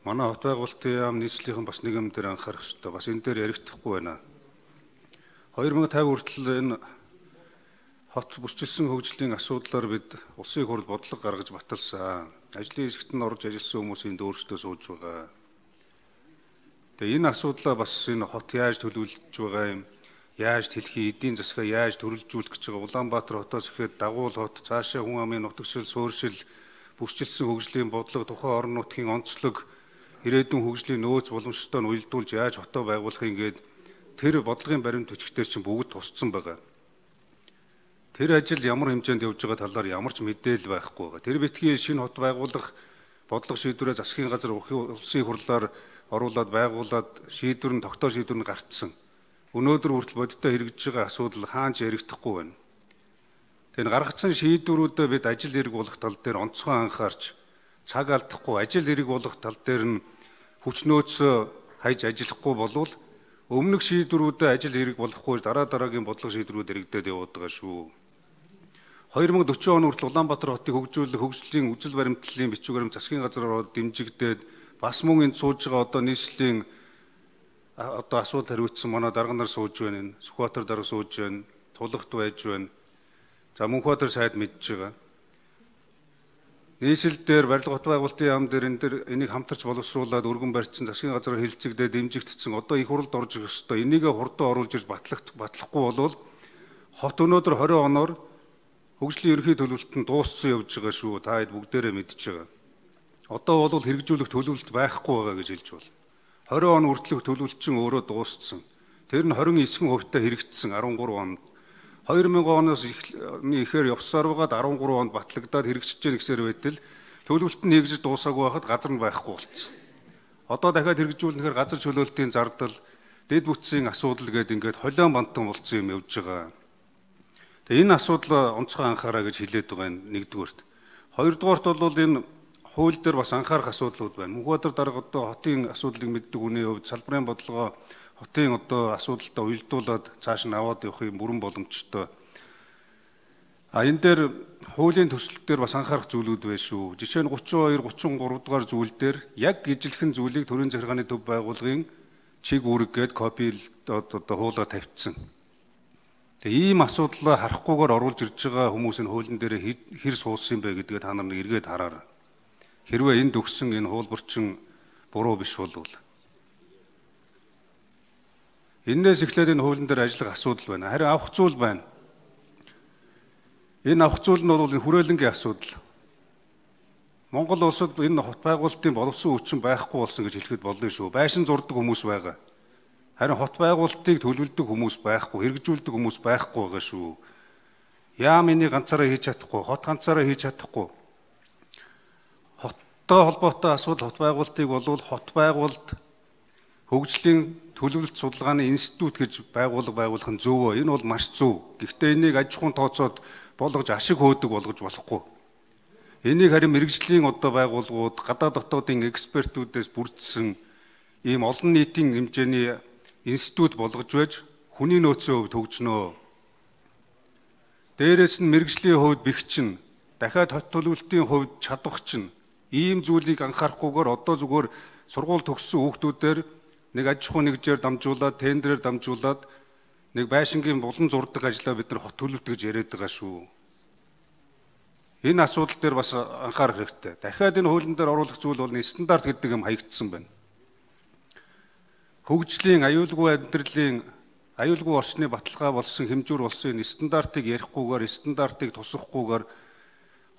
манай хот байгуулалтын яам нийслэлийн бас нэгэн дээр анхаарах хэрэгтэй. Бас энэ дээр ярихдаггүй байна. 2050 хүртэл энэ хот бүрчилсэн хөгжлийн асуудлаар бид улсын хурлд бодлого гаргаж баталсан. Ажлын хэсэгт нь орж ажилласан хүмүүсийн өөрсдөө сууж байгаа. Тэгээ энэ асуудлаа бас энэ хот яаж төлөвлөж байгаа юм, яаж тэлхий, эдийн засгаа яаж төрөлжүүлэх гэж байгаа. Улаанбаатар хотоос ихэд дагуул хот, цаашаа хүн амын нутагшил, суурьшил, бүрчилсэн хөгжлийн бодлого, тухайн орон нутгийн онцлог, ирээдүйн хөгжлийн нөөц боломжтой нь уялдуулж яаж хотоо байгуулахын гээд тэр бодлогын баримт бичгтэр чинь бүгд тусцсан байгаа. Тэр ажил ямар хэмжээнд явж байгаа талаар ямар ч мэдээлэл байхгүй байгаа. Тэр битгий шинэ хот байгуулах бодлого шийдвэрээ засгийн газар улсын хурлаар оруулаад байгуулад шийдвэр нь тогтоо шийдвэр нь гарцсан. Өнөөдөр хүртэл бодиттой хэрэгжиж байгаа асуудал хаанч ярихдахгүй байна. Тэгэхээр гаргацсан шийдвэрүүдэд бид ажил хэрэг болох тал дээр онцгой анхаарч цаг алдахгүй ажил хэрэг болох тал дээр нь хүч нөөцөө хайж ажиллахгүй болвол өмнөх шийдвэрүүдэд ажил хэрэг болохгүй дараагийн бодлого шийдвэрүүд хэрэгдээд яваад байгаа шүү. 2040 он хүртэл Улаанбаатар хотыг хөгжүүлэх хөгжлийн үзэл баримтлалын бичиг баримт засгийн газраар дэмжигдээд бас мөн энд сууж байгаа одоо нийслэлийн одоо асуудал хариуцсан манай дарга нар сууж байна. Сүхбаатар дарга сууж байна. Тулахт байж байна. За Мөнхбаатар сайд мэдж байгаа. Нийслэл дээр барилга хот байгуулалтын яам дээр энэ дээр энийг хамтарч боловсруулад өргөн барьцсан засгийн газраар хэлэлцэгдээд дэмжигдсэн одоо их хурлд орж ирэх ёстой. Энийг хурдан оруулж ирж батлахгүй болвол хот өнөөдөр 20 оноор хөгжлийн ерөнхий төлөвлөлтөнд дууссан явж байгаа шүү. Та хэд бүгдээрээ мэдж байгаа. Одоо бол хэрэгжүүлэх төлөвлөлт байхгүй байгаа гэж хэлж байна. 20 он хүртэлх төлөвлөлт чинь өөрөө дууссан. Тэр нь 29% хэрэгжсэн 13 онд. 2000 оноос ихээр явсаар байгаад 13 онд батлагдаад хэрэгжиж гэнэ гэсээр байтал төлөвлөлт нь нэгж дуусаагүй байхад газар нь байхгүй болцсон. Одоо дахиад хэрэгжүүлнэхээр газар чөлөөлтийн зардал, дэд бүтцийн асуудал гэдэг ингээд холион бантан болцсон юм явж байгаа. Тэгээ энэ асуудал онцгой анхаараа гэж хэлээд байгаа юм нэгдүгээрт. Хоёрдугаарт бол энэ хууль дээр бас анхаарах асуудлууд байна. Мөнхбаатар дарга одоо хотын асуудлыг мэддэг хүний хувьд салбарын бодлогоо хотын одоо асуудалтай уялдуулаад цааш нь аваад явахын бүрэн боломжтой. Энэ дээр хуулийн төслөл дээр бас анхаарах зүйлүүд байна шүү. Жишээ нь 32, 33 дугаар зүйл дээр яг ижилхэн зүйлийг төрийн захиргааны төв байгууллагын чиг үүрэг гээд копи одоо хуулаа тавьчихсан. Тэгээ ийм асуудлаа харахгүйгээр оруулж ирж байгаа хүмүүс энэ хуулийн дээр хэр суусан юм бэ гэдгээ та нар нэг эргээд хараарай. Хэрвээ энд өгсөн энэ хуулбарчин буруу биш бол энээс эхлээд энэ хуулийн дээр ажиллах асуудал байна. Харин авах зүйл байна. Энэ авах зүйл нь бол энэ хүрээлэнгийн асуудал. Монгол улсад энэ хот байгуулалтын боловсон хүчин байхгүй болсон гэж хэлэхэд болно шүү. Байшин зурдаг хүмүүс байгаа. Харин хот байгуулалтыг төлөвлөдөг хүмүүс байхгүй, хэрэгжүүлдэг хүмүүс байхгүй байгаа шүү. Яам энийг ганцаараа хийж чадахгүй, хот ганцаараа хийж чадахгүй. Хоттой холбоотой асуудал хот байгуулалтыг болвол хот байгуулалт хөгжлийн төлөвлөлт судалгааны институт гэж байгуулах нь зөвөө. Энэ бол маш зөв. Гэхдээ энийг аж ахуйн тооцоод болгож ашиг хөөдөг болгож болохгүй. Энийг харин мэрэгжлийн одоо байгууллагууд, гадаад дотоодын экспертүүдээс бүрдсэн ийм олон нийтийн хэмжээний институт болгож байж хүний нөөцийн хувьд хөгжнөө. Дээрээс нь мэрэгжлийн хувьд бэхчин, дахиад хот төлөвлөлтийн хувьд чадвах чинь ийм зүйлийг анхаарахгүйгээр одоо зүгээр сургууль төгссөн хүүхдүүдээр нэг аж ахуй нэгжээр дамжуулаад, тендерээр дамжуулаад нэг байшингийн булан зурдаг ажлаа бид нар хот төлөвлөлт гэж яриад байгаа шүү. Энэ асуудал дээр бас анхаарах хэрэгтэй. Дахиад энэ хуулийн дээр оруулах зүйл бол стандарт гэдэг юм хаягдсан байна. Хөгжлийн аюулгүй амьдралын аюулгүй орчны баталгаа болсон хэмжүүр болсон энэ стандартыг ярихгүйгээр, стандартыг тусахгүйгээр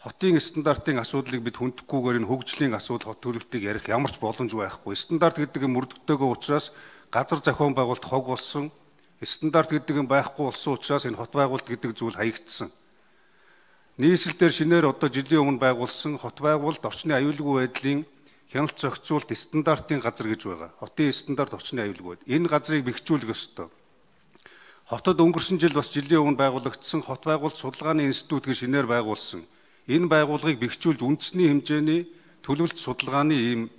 хотын стандартын асуудлыг бид хүндэхгүйгээр энэ хөгжлийн асуудал хот төлөвлөлтийг ярих ямар ч боломж байхгүй. Стандарт гэдэг нь мөрдөгтэйгөө учраас газар зохион байгуулалт хог болсон. Стандарт гэдэг нь байхгүй болсон учраас энэ хот байгуулалт гэдэг зүйл хаягдсан. Нийслэл дээр шинээр одоо жилийн өмнө байгуулсан хот байгуулалт орчны аюулгүй байдлын хяналт зохицуулт стандартын газар гэж байгаа. Хотын стандарт орчны аюулгүй байд. Энэ газрыг бэхжүүлэх ёстой. Хотод өнгөрсөн жил бас жилийн өмнө байгуулагдсан хот байгуулалт судалгааны институт гэж шинээр байгуулсан. Энэ байгууллагыг бэхжүүлж үндэсний хэмжээний төлөвлөлт судалгааны ийм